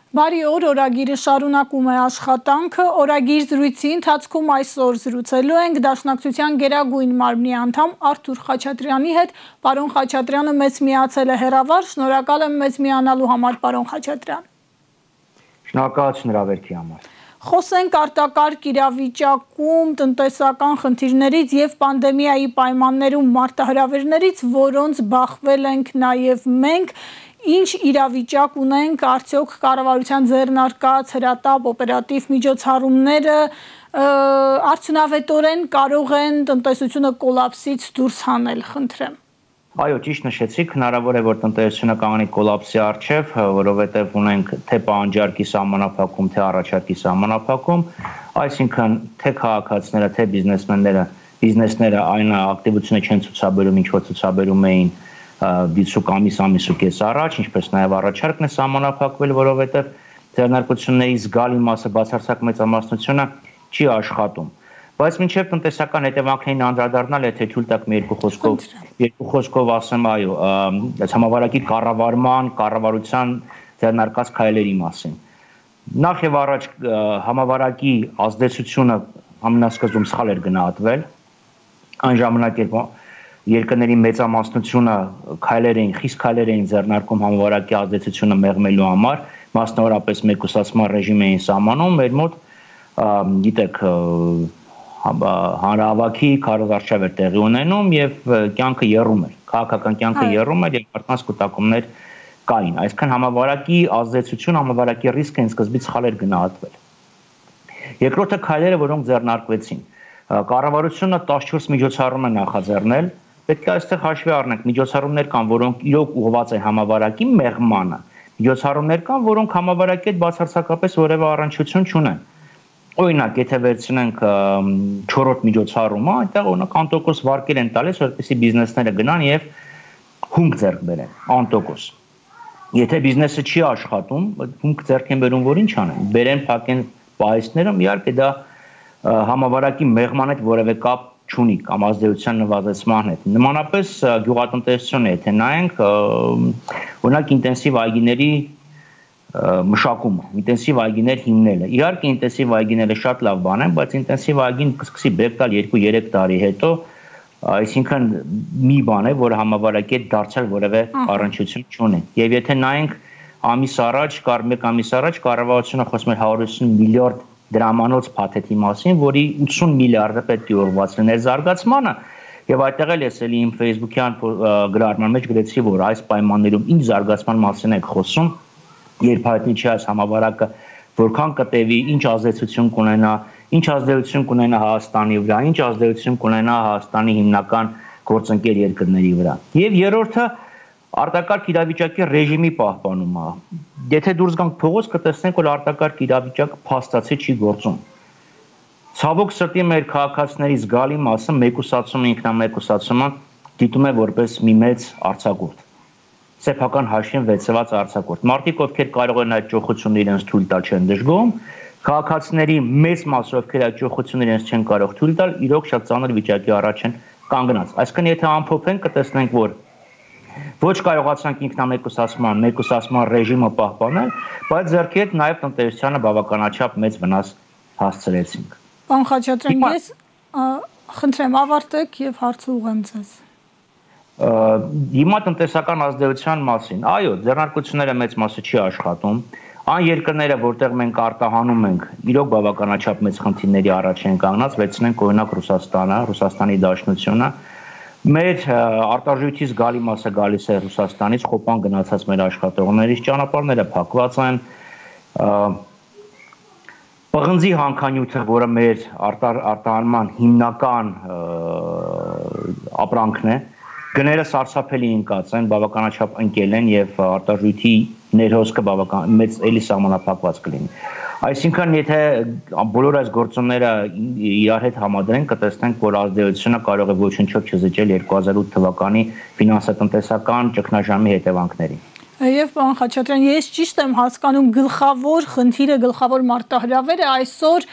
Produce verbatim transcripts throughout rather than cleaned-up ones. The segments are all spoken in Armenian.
Բարի օր, օրագիրը շարունակում է աշխատանքը, օրագիր զրույցի ընթացքում այսօր զրուցելու ենք Դաշնակցության գերագույն մարմնի անդամ Արթուր Խաչատրյանի հետ։ Պարոն Խաչատրյանը մեզ միացել է հեռավար, շնորհակալ եմ մեզ միանալու համար, պարոն Խաչատրյան։ Շնորհակալություն հրավերքի համար։ Խոսենք արտակարգ իրավիճակում տնտեսական խնդիրներից եւ պանդեմիայի պայմաններում մարտահրավերներից, որոնց բախվել ենք նաեւ մենք։ Ինչ իրավիճակ ունենք, արդյոք կառավարության ձեռնարկած հրատապ օպերատիվ միջոցառումները արդյունավետորեն կարող են տնտեսությունը կոլապսից դուրս հանել, խնդրեմ։ Այո, ճիշտ նշեցիք, հնարավոր է, որ տնտեսությունը կանգնի կոլապսի առջև, որովհետև ունենք թե պահանջարկի սահմանափակում, թե առաջարկի սահմանափակում, այսինքն թե քաղաքացիները, թե բիզնեսմենները, բիզնեսները այն ակտիվությունը չեն ցուցաբերում, ինչ որ ցուցաբերում էին դիցուկ ամիս-ամիսու կես առաջ, ինչպես նաև առաջարկն է սահմանափակվել, որովհետև ձեռնարկությունների զգալի մասը, բացարձակ մեծամասնությունը չի աշխատում։ Բայց մինչև տնտեսական հետևանքներին անդրադառնալ, եթե թույլ տաք մի երկու խոսքով, երկու խոսքով ասեմ, այո, համավարակի կառավարման, կառավարության ձեռնարկած քայլերի մասին։ Նախ եւ առաջ համավարակի ազդեցությունը ամենասկզբում սխալ էր գնահատվել, այն ժամանակ երբ երկրների մեծամասնությունը քայլեր էին, խիստ քայլեր էին ձեռնարկում համավարակի ազդեցությունը մեղմելու համար, մասնավորապես մեկուսացման ռեժիմ էին սահմանում, մեր մոտ, գիտեք, հանրահավաքի քարոզարշավ էր տեղի ունենում եւ կյանքը եռում էր, քաղաքական կյանքը եռում էր եւ մարդկանց կուտակումներ կային, այսինքն համավարակի ազդեցություն, համավարակի ռիսկը այն սկզբից սխալ էր գնահատվել։ Երկրորդը քայլերը, որոնք ձեռնարկվեցին, կառավարությունը տասնչորս միջոցառում է նախաձեռնել, պետք է այստեղ հաշվի առնենք, միջոցառումներ կան, որոնք իրոք ուղղված են համավարակի մեղմանը, միջոցառումներ կան, որոնք համավարակի հետ բացարձակապես որևէ առնչություն չունեն։ Օրինակ, եթե վերցնենք չորրորդ միջոցառումը, այնտեղ օրինակ անտոկոս վարկեր են տալիս, որպեսզի բիզնեսները գնան եւ հումք ձեռք բերեն, անտոկոս։ Եթե բիզնեսը չի աշխատում, հումք ձեռք են բերում, որ ինչ անեն, բերեն, փակեն պահեստներում, իհարկե դա համավարակի մեղման հետ որևէ կապ չունի կամ ազդեցության նվազեցման հետ։ Նմանապես գյուղատնտեսությունը, եթե նայենք, օրինակ ինտենսիվ այգիների մշակումը, ինտենսիվ այգիներ հիմնելը։ Իհարկե ինտենսիվ այգիները շատ լավ բան են, բայց ինտենսիվ այգին կսկսի բերք տալ երկու-երեք տարի հետո, այսինքն մի բան է, որ համավարակի հետ դարձյալ որևէ առնչություն չունի։ Եվ եթե նայենք ամիս առաջ, կար մեկ ամիս առաջ կառավարությունը խոսում էր հարյուր ութսուն միլիարդ դրամանոց փաթեթի մասին, որի ութսուն միլիարդը պետք է ուղղված լիներ զարգացմանը, եւ այդտեղ էլ ես էլի իմ Facebook-յան գրառման մեջ գրեցի, որ այս պայմաններում ինչ զարգացման մասին եք խոսում, երբ հայտնի չի այս համավարակը որքան կտևի, ինչ ազդեցություն կունենա, ինչ ազդեցություն կունենա Հայաստանի վրա, ինչ ազդեցություն կունենա Հայաստանի հիմնական գործընկեր երկրների վրա։ Եվ երրորդը արտակարգ իրավիճակի ռեժիմի պահպանումը։ Եթե դուրս գանք փողոց, կտեսնենք, որ արտակարգ իրավիճակը փաստացի չի գործում։ Ցավոք սրտի մեր քաղաքացիների զգալի մասը մեկուսացումը, ինքնամեկուսացումը դիտում է որպես մի մեծ արձակուրդ։ Սեփական հաշվին վեցված արձակուրդ։ Մարդիկ, ովքեր կարող են այդ ճոխությունը իրենց թույլ տալ, չեն դժգոհում, քաղաքացիների մեծ մասը, ովքեր այդ ճոխությունը իրենց չեն կարող թույլ տալ, իրոք շատ ծանր վիճակի առաջ են կանգնած։ Այսինքն, եթե ամփոփենք, կտեսնենք, որ ոչ կարողացանք ինքնամեկուսացման, մեկուսացման ռեժիմը պահպանել, բայց ձեռքի հետ նաև տնտեսությանը բավականաչափ մեծ վնաս հասցրեցինք։ Պարոն Խաչատրյան, ես խնդրեմ ավարտեք եւ հարցը ուղղեմ ձեզ։ Հիմա տնտեսական ազդեցության մասին, այո, ձեռնարկությունները մեծ մասը չի աշխատում, այն երկրները, որտեղ մենք արտահանում ենք, իրոք բավականաչափ մեծ խնդիրների առաջ են կանգնած, վերցնենք օրինակ Ռուսաստանը, Ռուսաստանի Դաշնությունը, մեր արտարժույթի զգալի մասը գալիս է Ռուսաստանից, խոպան գնացած մեր աշխատողներից, ճանապարհները փակված են, պղնձի հանքանյութը, որը մեր արտահանման հիմնական ապրանքն է, գները սարսափելի ընկած են, բավականաչափ ընկել են եւ արտարժույթի ներհոսքը բավական մեծ էլի սահմանափակված կլինի։ Այսինքն, եթե բոլոր այս գործոնները իրար հետ համադրենք, կտեսնենք, որ ազդեցությունը կարող է ոչնչով չզիջել երկու հազար ութ թվականի ֆինանսատնտեսական ճգնաժամի հետևանքներին։ Եվ պարոն Խաչատրյան, ես ճիշտ եմ հասկանում, գլխավոր խնդիրը, գլխավոր մարտահրավերը այսօր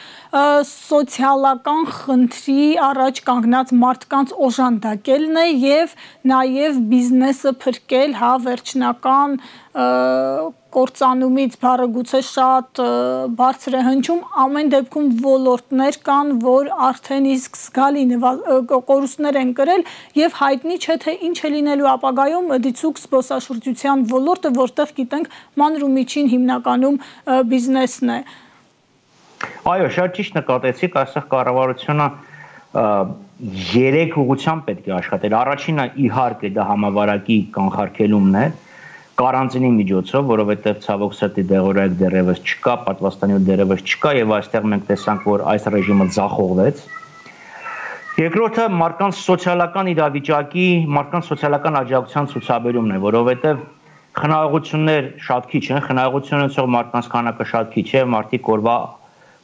սոցիալական խնդրի առաջ կանգնած մարդկանց օժանդակելն է եւ նաեւ բիզնեսը փրկել, հա, վերջնական կործանումից բառը գուցե շատ բարձր է հնչում, ամեն դեպքում ոլորտներ կան, որ արդեն իսկ զգալի կորուստներ են կրել եւ հայտնի չէ թե ինչ է լինելու ապագայում դիցուք զբոսաշրջության ոլորտը, որտեղ գիտենք մանր ու միջին հիմնականում բիզնեսն է։ Այո, շատ ճիշտ նկատեցիք, այստեղ կառավարությունը երեք ուղղությամբ պետք է աշխատել։ Առաջինը իհարկե դա համավարակի կանխարգելումն է կարանտինի միջոցով, որովհետև ցավոք սրտի դեղորայք դեռևս չկա, պատվաստանյութ դեռևս չկա եւ այստեղ մենք տեսանք, որ այս ռեժիմը ձախողվեց։ Երկրորդը մարդկանց սոցիալական իրավիճակի, մարդկանց սոցիալական աջակցության ցուցաբերումն է, որովհետև խնայողություններ շատ քիչ են, խնայողություն ունեցող մարդկանց քանակը շատ քիչ է, մարդիկ օրվա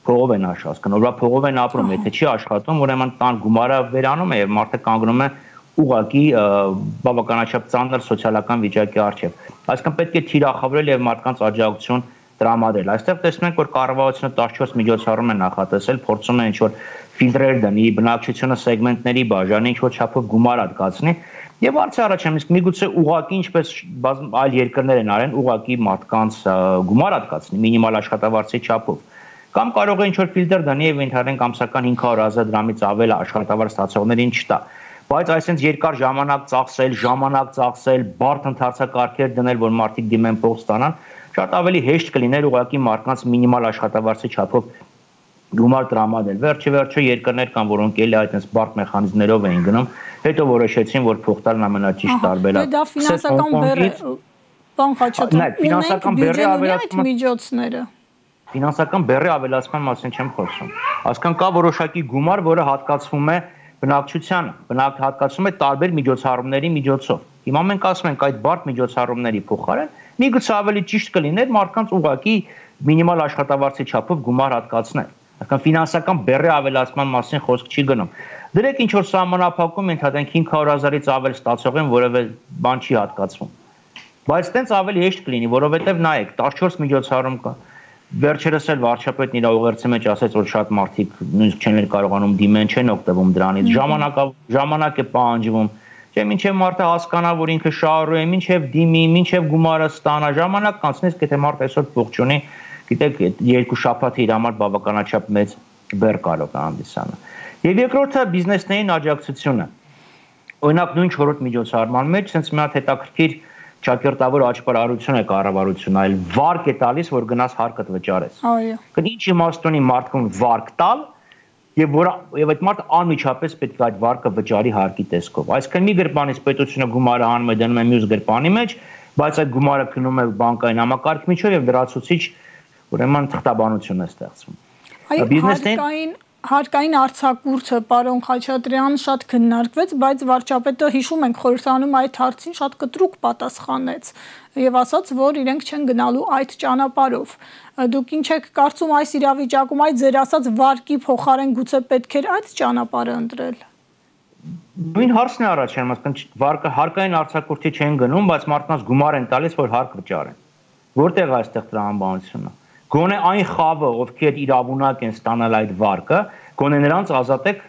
փողով են աշխատում, օրվա փողով են ապրում, եթե չի աշխատում, ուրեմն տան գումարը վերանում է եւ մարդը կանգնում է ուղղակի բավականաչափ ծանր սոցիալական վիճակի առջև։ Այսինքն պետք է թիրախավորել եւ մարդկանց աջակցություն տրամադրել։ Այստեղ տեսնում ենք, որ կառավարությունը տասնչորս միջոցառում է նախատեսել, փորձում է ինչ-որ ֆիլտրեր դնի, բնակչությունը սեգմենտների բաժանի, ինչ-որ չափով գումար հատկացնի եւ արցի առաջանում, իսկ միգուցե ուղղակի ինչպես այլ երկրներ են արեն, ուղղակի մարդկանց գումար հատկացնի մինիմալ աշխատավարձի չափով։ Կամ կարող է ինչ-որ ֆիլտր դնի եւ ընդհանրեն ամսական հինգ հարյուր հազար դրամից ավել աշխատավարձ ստացողներին չտա։ Բայց այսինքն երկար ժամանակ ծախսել, ժամանակ ծախսել, բարդ ընթացակարգեր դնել, որ մարդիկ դիմեն փող ստանան, շատ ավելի հեշտ կլիներ ուղղակի մարդկանց մինիմալ աշխատավարձի չափով գումար տրամադրել։ Վերջի վերջո երկրներ կան, որոնք էլի այդպես բարդ մեխանիզմներով էին գնում, հետո որոշեցին, որ փող տալն ամենաճիշտ տարբերակը։ Դա ֆինանսական բեռ է, բան Խաչատրյան, ֆինանսական բեռի ավելացումը միջոցները։ Ֆինանսական բեռի ավելացման մասին չեմ խոսում։ Այսինքն կա որոշակի գումար, որը հատկացվում է բնակչությանը, բնակ հատկացում է տարբեր միջոցառումների միջոցով։ Հիմա մենք ասում ենք այդ բարդ միջոցառումների փոխարեն միգուցե ավելի ճիշտ կլիներ մարդկանց ուղղակի մինիմալ աշխատավարձի չափով գումար հատկացնել։ Այսինքն ֆինանսական բեռի ավելացման մասին խոսք չի գնում։ Դրեք ինչ որ սահմանափակում ընդհանրենք հինգ հարյուր հազարից ավել ստացողին որևէ բան չի հատկացվում։ Բայց տենց ավելի հեշտ կլինի, որովհետև նայեք, տասնչորս միջոցառում կա։ Վերջերս էլ վարչապետն իր ուղերձի մեջ ասաց, որ շատ մարդիկ նույնիսկ չեն կարողանում դիմեն, չեն օգտվում դրանից, ժամանակ ժամանակ է պահանջվում, չէ՞, մինչև մարդը հասկանա, որ ինքը շահառու է, մինչև դիմի, մինչև գումարը ստանա, ժամանակ կանցնես, եթե մարդը այսօր փող չունի, գիտեք, երկու շաբաթը իր համար բավականաչափ մեծ բեռ կարող է հանդիսանալ։ Եվ երկրորդը բիզնեսներին աջակցությունը։ Օրինակ նույն չորրորդ միջոցառման մեջ sense մի հատ հետաքրքիր ճակերտավոր աճպարարություն է կառավարությունը, այլ վարկ է տալիս, որ գնաս հարկդ վճարես։ Այո։ Ինչ իմաստ ունի մարդկուն վարկ տալ, եւ որ եւ այդ մարդը անմիջապես պետք է այդ վարկը վճարի հարկի տեսքով։ Այսինքն մի գրպանից պետությունը գումարը հանում է դնում է մյուս գրպանի մեջ, բայց այդ գումարը գնում է բանկային համակարգի միջով եւ լրացուցիչ ուրեմն թղթաբանություն է ստեղծվում։ Այո, հարկային Հարկային արձակուրդը, պարոն Խաչատրյան, շատ քննարկվեց, բայց վարչապետը հիշում ենք խորհրդանում այդ հարցին շատ կտրուկ պատասխանեց եւ ասաց, որ իրենք չեն գնալու այդ ճանապարհով։ Դուք ինչ եք կարծում այս իրավիճակում, այդ ձեր ասած վարկի փոխարեն գուցե պետք էր այդ ճանապարհը ընտրել։ Նույն հարցն է առաջանում, ասենք վարկը հարկային արձակուրդի չեն գնում, բայց մարդկանց գումար են տալիս, որ հարկ վճարեն։ Որտեղ է այստեղ տրամաբանությունը։ Գոնե այն խավը, ովքեր իրավունակ են ստանալ այդ վարկը, գոնե նրանց ազատեք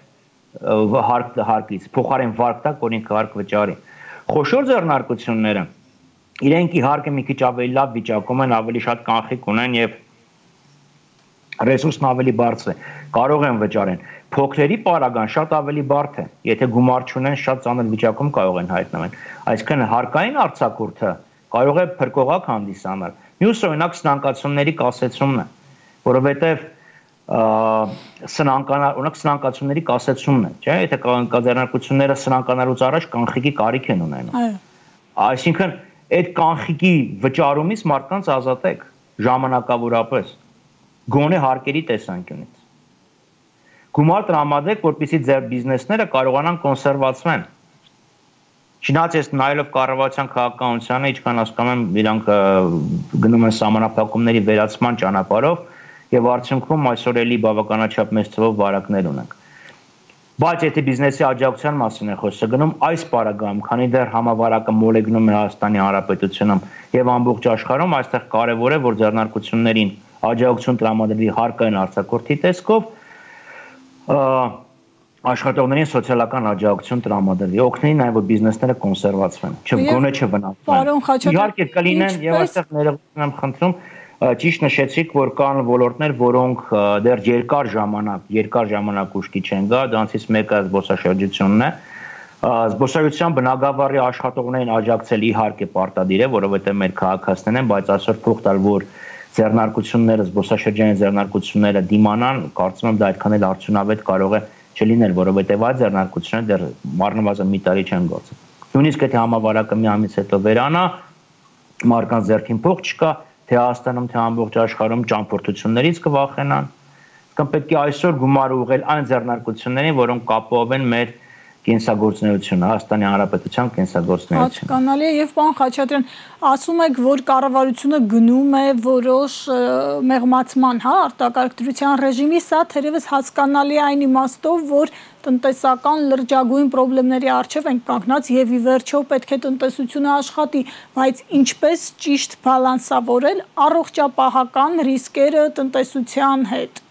հարկ հարկից, փոխարեն վարկ տակ, որ ինքը հարկ վճարի։ Խոշոր ձեռնարկությունները իրենք իհարկե մի քիչ ավելի լավ վիճակում են, ավելի շատ կանխիկ ունեն եւ ռեսուրսն ավելի բարձր է, կարող են վճարեն։ Փոքրերի պարագան շատ ավելի բարդ է, եթե գումար չունեն, շատ ծանր վիճակում կարող են հայտնվել։ Այսինքն հարկային արձակուրդը կարող է փրկողակ հանդիսանալ։ Մյուսը օրինակ սնանկացումների կասեցումն է, որովհետև սնանկանալ, օրինակ սնանկացումների կասեցումն է, չէ՞, եթե կազմակերպությունները սնանկանալուց առաջ կանխիկի կարիք են ունենում։ Այո։ Այսինքն այդ կանխիկի վճարումից մարդկանց ազատեք ժամանակավորապես, գոնե հարկերի տեսանկյունից։ Գումար տրամադրեք, որպեսզի ձեր բիզնեսները կարողանան կոնսերվացվեն։ Չնայած ես նայելով կառավարության քաղաքականությանը, ինչքան հասկանում եմ, իրանք գնում են սահմանափակումների վերացման ճանապարհով եւ արդյունքում այսօր էլի բավականաչափ մեծ թվով վարակներ ունենք։ Բայց եթե բիզնեսի աջակցության մասին է խոսքը գնում, այս պարագայում, քանի դեռ համավարակը մոլեգնում է Հայաստանի Հանրապետությունում եւ ամբողջ աշխարհում, այստեղ կարեւոր է, որ ձեռնարկություններին աջակցություն տրամադրվի հարկային արձակուրդի տեսքով, աշխատողներին սոցիալական աջակցություն տրամադրի, օգնի նաև որ բիզնեսները կոնսերվացվեն, չգոնե չվնասվեն։ Իհարկե կլինեն եւ այստեղ ներողություն եմ խնդրում, ճիշտ նշեցիք, որ կան ոլորտներ, որոնք դեռ երկար ժամանակ, երկար ժամանակ ուշքի չեն գա, դրանցից մեկը զբոսաշրջությունն է։ Զբոսաշրջության բնագավառի աշխատողներին աջակցել իհարկե պարտադիր է, որովհետեւ մեր քաղաքացիներն են, բայց այսօր փող տալ, որ ձեռնարկությունները, զբոսաշրջային ձեռնարկությունները դիմանան, կարծում եմ դա այդքան էլ արդյունավետ կարող է չլինել, որովհետև այդ ձեռնարկությունը դեռ առնվազն մի տարի չեն գործել։ Նույնիսկ եթե համավարակը մի ամիս հետո վերանա, մարդկանց ձեռքին փող չկա, թե Հայաստանում, թե ամբողջ աշխարհում ճամփորդություններից կվախենան, կամ պետք է այսօր գումար ուղղել այն ձեռնարկություններին, որոնք կապով են մեր կենսագործունեությունը, Հայաստանի Հանրապետության կենսագործունեությունը։ Հասկանալի է եւ պարոն Խաչատրյան, ասում եք, որ կառավարությունը գնում է որոշ մեղմացման, հա, արտակարգ ռեժիմի, սա թերևս հասկանալի է այն իմաստով, որ տնտեսական լրջագույն խնդիրների առջև ենք կանգնած եւ ի վերջո պետք է տնտեսությունը աշխատի, բայց ինչպես ճիշտ բալանսավորել առողջապահական ռիսկերը տնտեսության հետ։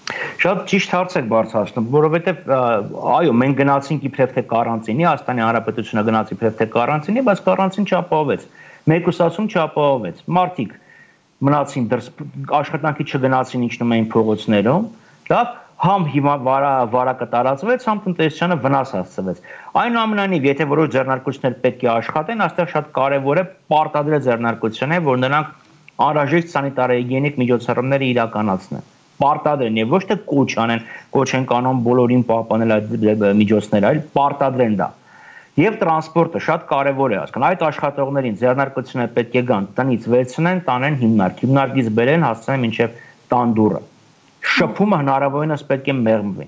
Շատ ճիշտ հարց եք բարձրացնում, որովհետև այո, մենք գնացինք իբրև թե կարանտինի, Հայաստանի Հանրապետությունը գնաց իբրև թե կարանտինի, բայց կարանտին չապահովեց, մեկուսացում չապահովեց, մարդիկ մնացին դրս, աշխատանքի չգնացին, իջնում էին փողոցներում, լավ, համ հիմա վարակը տարածվեց, համ տնտեսությանը վնաս հասցվեց։ Այնուամենայնիվ, եթե որոշ ձեռնարկություններ պետք է աշխատեն, այստեղ շատ կարևոր է պարտադիր ձեռնարկություն է, որ նրանք անհրաժեշտ սանիտարահիգիենիկ միջոցառումները իրականացնեն։ Պարտադիր են եւ ոչ թե կոչ անեն, կոչ են կանոն բոլորին պահպանել այդ միջոցները, այլ պարտադիր են դա։ Եվ տրանսպորտը շատ կարևոր է, հասկան, այդ աշխատողներին ձեռնարկությունները պետք է գան, տնից վերցնեն, տանեն հիմնարկ, հիմնարկից բերեն, հասցնեն մինչև տան դուռը։ Շփումը հնարավորինս պետք է մեղմվի։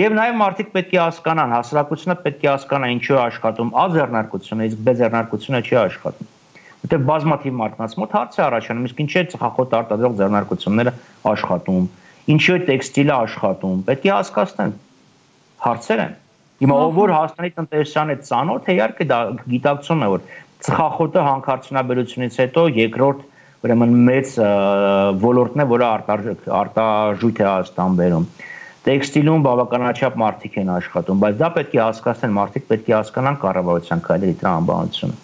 Եվ նաեւ մարդիկ պետք է հասկանան, հասարակությունը պետք է հասկանա ինչու է աշխատում A ձեռնարկությունը, իսկ B ձեռնարկությունը չի աշխատում։ Որտեղ բազմաթիվ մարդկանց մոտ հարց է առաջանում, իսկ ինչի է ծխախոտ արտադրող ձեռնարկությունները աշխատում, ինչի է տեքստիլը աշխատում, պետք է հասկացնեն, հարցեր են։ Հիմա ով որ Հայաստանի տնտեսության հետ ծանոթ է, իհարկե դա գիտակցում է, որ ծխախոտը հանքարդյունաբերությունից հետո երկրորդ ուրեմն մեծ ոլորտն է, որը արտարժույթ է Հայաստան բերում։ Տեքստիլում բավականաչափ մարդիկ են աշխատում, բայց դա պետք է հասկացնեն, մարդիկ պետք է հասկանան կառավարության քայլերի տրամաբանությունը։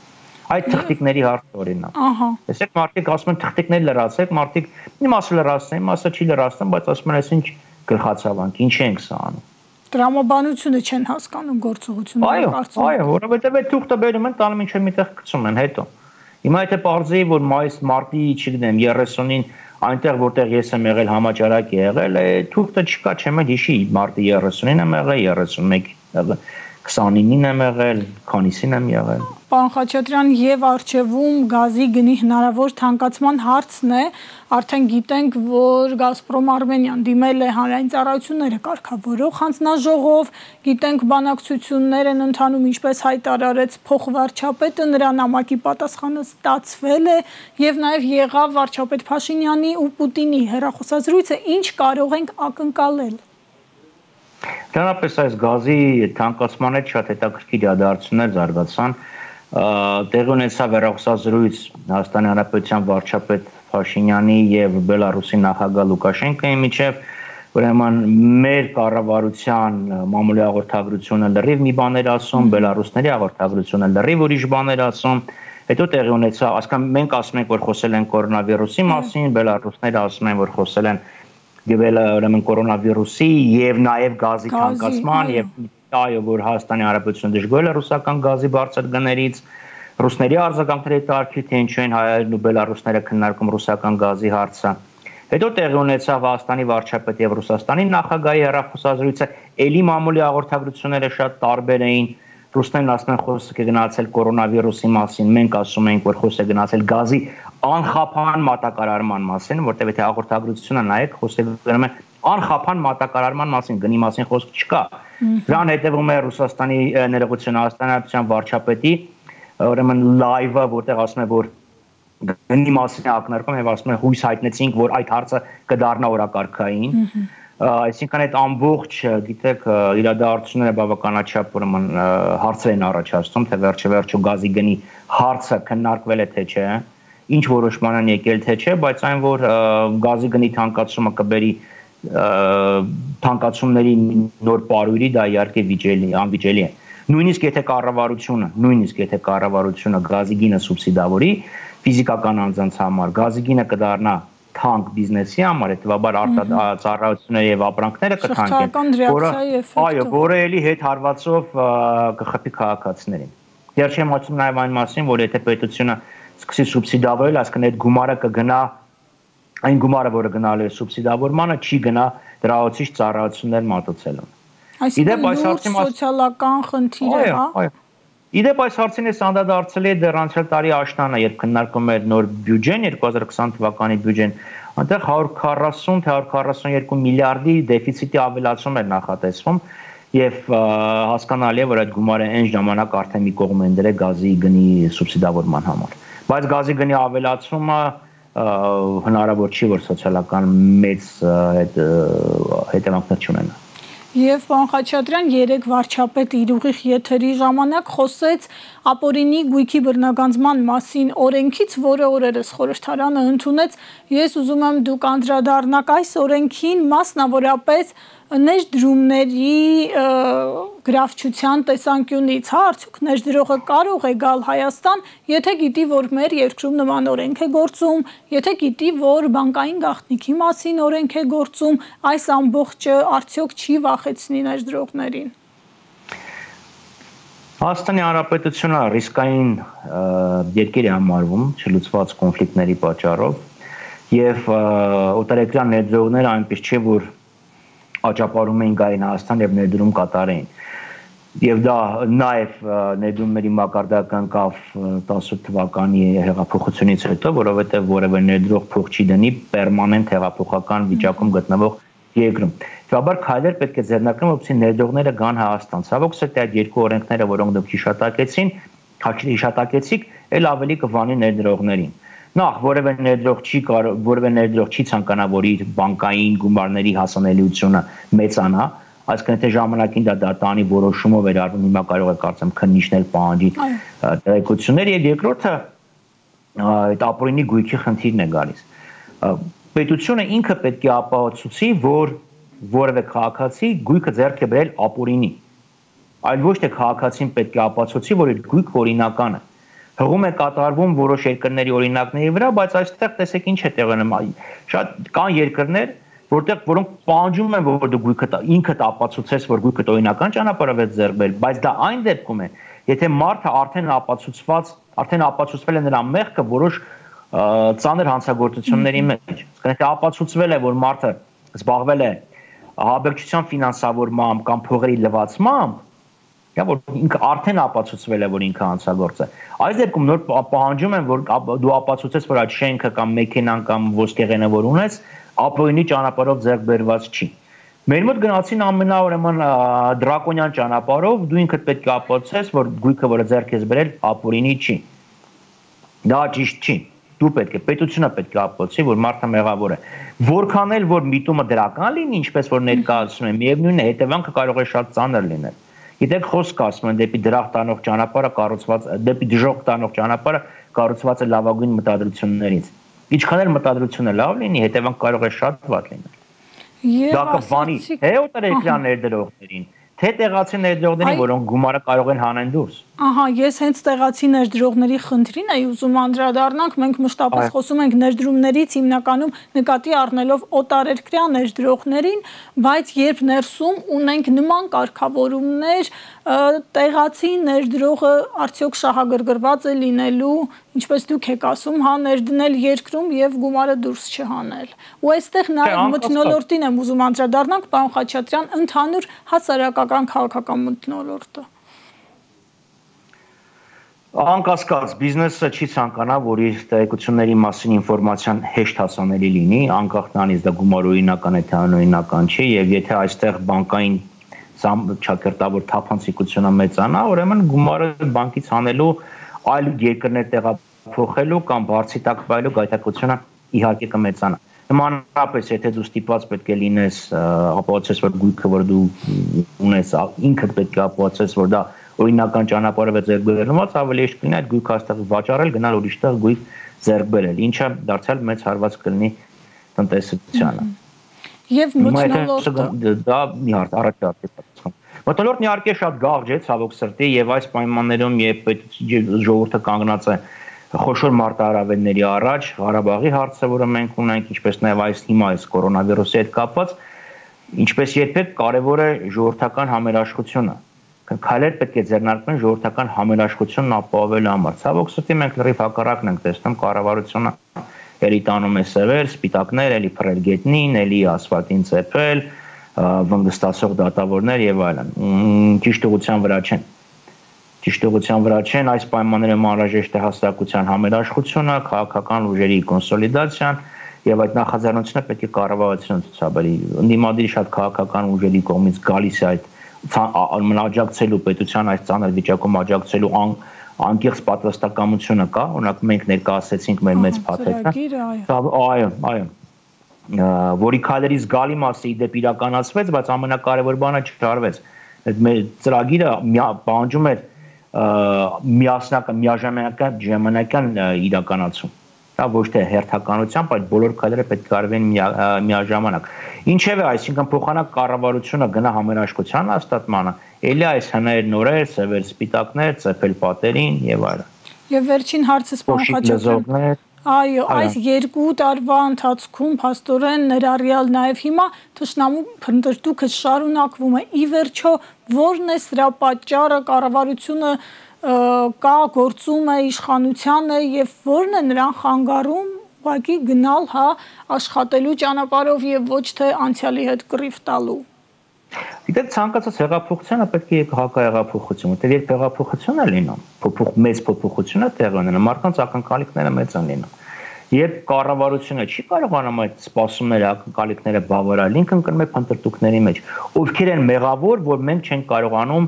Այդ թղթիկների հարցը օրինակ։ Տեսեք, մարդիկ ասում են թղթիկներ լրացեք, մարդիկ մի մասը լրացնեն, մի մասը չի լրացնում, բայց ասում են, այսինչ գլխացավանք, ինչ ենք սա անում։ Տրամաբանությունը չեն հասկանում գործողությունները, կարծում եմ։ Այո, որովհետև այդ թուղթը բերում են, տանում ինչ-որ միտեղ գցում են հետո։ Հիմա եթե պարզեի, որ մայիս մարտի, չգիտեմ, երեսունին այնտեղ որտեղ ես եմ եղել համաճարակ է եղել, է թուղթը չկա, չեմ հիշի, մարտի երեսունին եմ եղել, երեսունմեկ եղել, քսանինին եմ եղել, քանիսին եմ եղել։ Պարոն Խաչատրյան, եւ արժևում գազի գնի հնարավոր թանկացման հարցն է, արդեն գիտենք, որ Գազպրոմ Արմենիան դիմել է հանրային ծառայությունները կարգավորող հանձնաժողով, գիտենք բանակցություններ են ընթանում, ինչպես հայտարարեց փոխվարչապետը, նրա նամակի պատասխանը ստացվել է եւ նաեւ եղավ վարչապետ Փաշինյանի ու Պուտինի հեռախոսազրույցը, ինչ կարող ենք ակնկալել։ Դրանպես այս գազի թանկացման հետ շատ հետաքրքիր իրադարձություններ զարգացան, տեղի ունեցավ հեռախոսազրույց Հայաստանի Հանրապետության վարչապետ Փաշինյանի եւ Բելարուսի նախագահ Լուկաշենկոյի միջեւ, ուրեմն մեր կառավարության մամուլի հաղորդագրությունը լրիվ մի բան էր ասում, բելարուսների հաղորդագրությունը լրիվ ուրիշ բան էր ասում, հետո տեղի ունեցավ, ասկան մենք ասում ենք, որ խոսել են կորոնավիրուսի մասին, բելարուսները ասում են, որ խոսել են ուրեմն կորոնավիրուսի եւ նաեւ գազի թանկացման եւ այո, որ Հայաստանի Հանրապետությունը դժգոհել է ռուսական գազի բարձր գներից, ռուսների արձագանքների տարկի, թե ինչու են հայերն ու բելարուսները քննարկում ռուսական գազի հարցը։ Հետո տեղի ունեցավ Հայաստանի վարչապետի եւ Ռուսաստանի նախագահի հեռախոսազրույցը, ելի մամուլի հաղորդագրությունները շատ տարբեր էին։ Ռուսներն ասում են խոսք է գնացել կորոնավիրուսի մասին, մենք ասում ենք, որ խոսք է գնացել գազի անխափան մատակարարման մասին, որտեղ եթե հաղորդագրությունը նայեք, խոսքը գնում է անխափան մատակարարման մասին, գնի մասին խոսք չկա։ Դրան հետևում է Ռուսաստանի ներողություն Հայաստանի Հանրապետության վարչապետի ուրեմն լայվը, որտեղ ասում է, որ գնի մասին ակնարկում եւ ասում է հույս հայտնեցինք, որ այդ հարցը կդառնա օրակարգային։ Այսինքն այդ ամբողջ, գիտեք, իրադարձությունները բավականաչափ ուրեմն հարցեր են առաջացնում, թե վերջը-վերջո գազի գնի հարցը քննարկվել է թե չէ, ինչ որոշման են եկել թե չէ, բայց այն որ գազի գնի թանկացումը կբերի թանկացումների նոր պարույրի դա իհարկե վիճելի, անվիճելի է։ Նույնիսկ եթե կառավարությունը, նույնիսկ եթե կառավարությունը գազի գինը սուբսիդավորի ֆիզիկական անձանց համար, գազի գինը կդառնա թանկ բիզնեսի համար, հետևաբար արտադրությունները եւ ապրանքները կթանկեն, որը այո, որը էլի հետ հարվածով կխփի քաղաքացիներին։ Դեռ չեմ ասում նաեւ այն մասին, որ եթե պետությունը սկսի սուբսիդավորել, այսինքն այդ գումարը կգնա այն գումարը, որը գնալու է սուբսիդավորմանը, չի գնա դրահոցիչ ծառայություններ մատուցելուն։ Այսինքն լուրջ սոցիալական խնդիր է, հա։ Իդեպ այս հարցին ես անդրադարձել եմ դեռ անցյալ տարի աշնանը, երբ քննարկում էր նոր բյուջեն, երկու հազար քսան թվականի բյուջեն, այնտեղ հարյուր քառասուն թե հարյուր քառասունյոթ միլիարդի դեֆիցիտի ավելացում էր նախատեսվում եւ հասկանալի է, որ այդ գումարը այն ժամանակ արդեն մի կողմ են դրել գազի գնի սուբսիդավորման համար։ Բայց գազի գնի ավելացումը հնարավոր չի, որ սոցիալական մեծ հետևանքներ չունենա։ Եվ պարոն Խաչատրյան, երեք վարչապետը իր ուղիղ եթերի ժամանակ խոսեց ապօրինի գույքի բռնագանձման մասին օրենքից, որը օրերս խորհրդարանը ընդունեց։ Ես ուզում եմ դուք անդրադառնաք այս օրենքին, մասնավորապես ներդրումների գրավչության տեսանկյունից, հա, արդյոք ներդրողը կարող է գալ Հայաստան, եթե գիտի, որ մեր երկրում նման օրենք է գործում, եթե գիտի, որ բանկային գաղտնիքի մասին օրենք է գործում, այս ամբողջը արդյոք չի վախեցնի ներդրողներին։ Հայաստանի Հանրապետությունը ռիսկային երկիր է համարվում չլուծված կոնֆլիկտների պատճառով եւ օտարերկրյա ներդրողները այնպես չէ, որ աճապարում էին գային Հայաստան եւ ներդրում կատարեին։ Եվ դա նաեւ ներդրումների մակարդակը ընկավ տասնութ թվականի հեղափոխությունից հետո, որովհետեւ որևէ ներդրող փող չի դնի պերմանենտ հեղափոխական վիճակում գտնվող երկրում։ Հետաբար քայլեր պետք է ձեռնարկեն, որպեսզի ներդրողները գան Հայաստան։ Ցավոք սրտի այդ երկու օրենքները, որոնք դուք հիշատակեցին, հիշատակեցիք, ել ավելի կվանի ներդրողներին։ Նախ որևէ ներդրող չի կարող, որևէ ներդրող չի ցանկանա, որ իր բանկային գումարների հասանելիությունը մեծանա, այսինքն եթե ժամանակին դա դատանի որոշումով էր արվում, հիմա կարող է կարծեմ քննիչներ պահանջի տեղեկություններ, եւ երկրորդը այդ ապօրինի գույքի խնդիրն է գալիս։ Պետությունը ինքը պետք է ապահովի, որ որևէ քաղաքացի գույքը ձեռք է բերել ապօրինի, այլ ոչ թե քաղաքացին պետք է ապացուցի, որ այդ գույքը օրինական է։ Հղում է կատարվում որոշ երկրների օրինակների վրա, բայց այստեղ տեսեք ինչ է տեղի ունենում։ Շատ կան երկրներ, որտեղ որոնք պահանջում են, որ դու գույքը ինքդ ապացուցես, որ գույքը օրինական ճանապարհով է ձեռք բերել, բայց դա այն դեպքում է, եթե մարդը արդեն ապացուցված, արդեն ապացուցվել է նրա մեղքը որոշ ծանր հանցագործությունների մեջ։ Եթե ապացուցվել է, որ մարդը զբաղվել է ահաբեկչության ֆինանսավորմամբ կամ փողերի լվացմամբ, Դա որ ինքը արդեն ապացուցվել է, որ ինքը հանցագործ է։ Այս դեպքում նոր պահանջում են, որ դու ապացուցես, որ այդ շենքը կամ մեքենան կամ ոսկեղենը որ ունես, ապօրինի ճանապարհով ձեռք բերված չի։ Մեր մոտ գնացին ամենաուրեմն դրակոնյան ճանապարհով, դու ինքդ պետք է ապացուցես, որ գույքը, որը ձեռք ես բերել, ապօրինի չի։ Դա ճիշտ չի։ Դու պետք է, պետությունը պետք է ապացուցի, որ մարդը մեղավոր է։ Որքան էլ որ միտումը դրական լինի, ինչպես որ ներկայացնում են, միևնույն է, հետևանքը կարող է շատ ծանր լինել։ Գիտեք, խոսք ասում են դեպի դրախտ տանող ճանապարհը կառուցված, դեպի դժոխք տանող ճանապարհը կառուցված է լավագույն մտադրություններից։ Ինչքան էլ մտադրությունը լավ լինի, հետևանք կարող է շատ վատ լինել։ Դա կվանի թե օտարերկրյա ներդրողներին, թե տեղացի ներդրողներին, որոնք գումարը կարող են հանեն դուրս։ Ահա, ես հենց տեղացի ներդրողների խնդրին էի ուզում անդրադառնանք, մենք մշտապես խոսում ենք ներդրումներից հիմնականում նկատի առնելով օտարերկրյա ներդրողներին, բայց երբ ներսում ունենք նման կարգավորումներ, տեղացի ներդրողը արդյոք շահագրգռված է լինելու, ինչպես դուք եք ասում, հա ներդնել երկրում եւ գումարը դուրս չհանել։ Ու այստեղ նաեւ մթնոլորտին եմ ուզում անդրադառնանք, պարոն Խաչատրյան, ընդհանուր հասարակական քաղաքական մթնոլորտը։ Անկասկած բիզնեսը չի ցանկանա, որ իր տեղեկությունների մասին ինֆորմացիան հեշտ հասանելի լինի, անկախ նրանից դա գումարօրինական է թե անօրինական չի, եւ եթե այստեղ բանկային չակերտավոր թափանցիկությունը մեծանա, ուրեմն գումարը բանկից հանելու, այլ երկրներ տեղափոխելու կամ բարձի տակ վայելու գայթակղությունը իհարկե կմեծանա։ Նմանապես, եթե դու ստիպված պետք է լինես ապացուցես, որ գույքը, որ դու ունես, ինքդ պետք է ապացուցես, որ դա օրինական ճանապարհով է ձեռք բերված, ավելի հեշտ կլինի այդ գույքը այստեղ վաճառել, գնալ ուրիշտեղ գույք ձեռք բերել, ինչը դարձյալ մեծ հարված կլինի տնտեսությանը։ Եւ մթնոլորտը դա մի հարց առաջ արդի պատասխան։ Մթնոլորտն իհարկե շատ գաղջ է, ցավոք սրտի, եւ այս պայմաններում երբ ժողովուրդը կանգնած է խոշոր մարտահրավերների առաջ, Ղարաբաղի հարցը, որը մենք ունենք, ինչպես նաեւ այս հիմա այս կորոնավիրուսի հետ կապված, ինչպես երբեք կարևոր է ժողովրդական համերաշխությունը։ Քայլեր պետք է ձեռնարկվեն ժողովրդական համերաշխությունն ապահովելու համար։ Ցավոք սրտի մենք լրիվ հակառակն ենք տեսնում, կառավարությունը էլի տանում է սևեր, սպիտակներ, էլի փռել գետնին, էլի ասֆալտին ծեփել, վնգստացող դատավորներ եւ այլն։ Ճիշտ ուղղության վրա չեն։ Ճիշտ ուղղության վրա չեն, այս պայմաններում անհրաժեշտ է հաստատության համերաշխությունը, քաղաքական ուժերի կոնսոլիդացիան եւ այդ նախաձեռնությունը պետք է կառավարությունը ցուցաբերի։ Ընդդիմադիր շատ քաղաքական ուժերի կողմից գալիս է այդ աջակցելու պետության այս ծանր վիճակում աջակցելու անկեղծ պատրաստակամությունը կա, օրինակ մենք ներկայացրեցինք մեր մեծ փաթեթը։ Այո, այո։ Որի քայլերի զգալի մասը իդեպ իրականացվեց, բայց ամենակարևոր բանը չարվեց։ Այդ մեր ծրագիրը պահանջում էր միասնական, միաժամանական ժամանակական իրականացում։ Դա ոչ թե հերթականությամբ, այլ բոլոր քայլերը պետք է արվեն միաժամանակ։ Ինչևէ, այսինքն փոխանակ կառավարությունը գնա համերաշխության հաստատմանը, ելի այս հներ նորեր, սևեր սպիտակներ, ծեփել պատերին եւ այլն։ Եվ վերջին հարցս պարոն Խաչատրյան։ Այո, այս երկու տարվա ընթացքում փաստորեն ներառյալ նաեւ հիմա թշնամու փնտրտուքը շարունակվում է։ Ի վերջո, ո՞րն է սրա պատճառը, կառավարությունը կա գործում է իշխանությանը եւ ո՞րն է նրան խանգարում ուղղակի գնալ հա աշխատելու ճանապարհով եւ ոչ թե անցյալի հետ կռիվ տալու։ Գիտեք, ցանկացած հեղափոխությունը պետք է հակահեղափոխություն, որտեղ երբ հեղափոխություն է լինում, փոփոխ մեծ փոփոխություն է տեղի ունենում, մարդկանց ակնկալիքները մեծ են լինում։ Երբ կառավարությունը չի կարողանում այդ սպասումները, ակնկալիքները բավարարել, ինքն կնում է փնտրտուքների մեջ, ովքեր են մեղավոր, որ մենք չենք կարողանում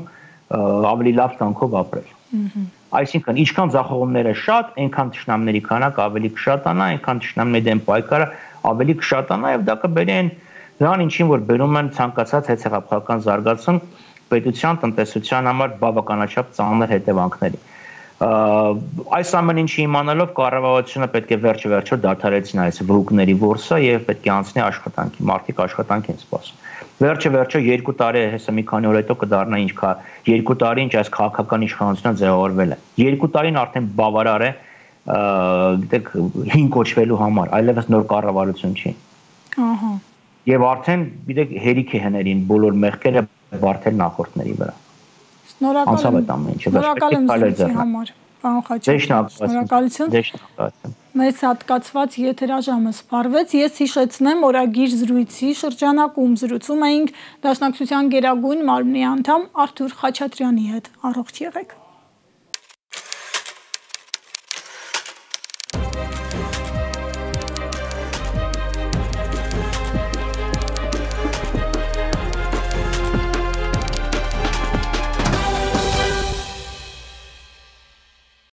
ավելի լավ կյանքով ապրել։ Այսինքն, ինչքան ձախողումները շատ, այնքան թշնամների քանակը ավելի կշատանա, այնքան թշնամների դեմ պայքարը ավելի կշատանա եւ դա կբերի նրան ինչին որ բերում են ցանկացած հետհեղափոխական զարգացում պետության տնտեսության համար բավականաչափ ծանր հետևանքների։ Այս ամեն ինչի իմանալով կառավարությունը պետք է վերջ-վերջո դադարեցնի այս վհուկների որսը եւ պետք է անցնի աշխատանքի, մարդիկ աշխատանք են սպասում։ Վերջը-վերջո երկու տարի հեսա մի քանի օր հետո կդառնա ինչ կա, երկու տարի ինչ այս քաղաքական իշխանությունը ձևավորվել է։ Երկու տարին արդեն բավարար է, գիտեք, հին կոչվելու համար, այլևս նոր կառավարություն չի։ Ահա։ Եվ արդեն, գիտեք, հերիք է հներին բոլոր մեղքերը բարթել նախորդների վրա։ Շնորհակալ եմ։ Շնորհակալ եմ զրույցի համար, պարոն Խաչատրյան։ Շնորհակալություն։ Մեծ հատկացված եթերաժամը սպառվեց։ Ես հիշեցնեմ, օրագիր զրույցի շրջանակում զրուցում էինք Դաշնակցության Գերագույն մարմնի անդամ Արթուր Խաչատրյանի հետ։ Առողջ եղեք։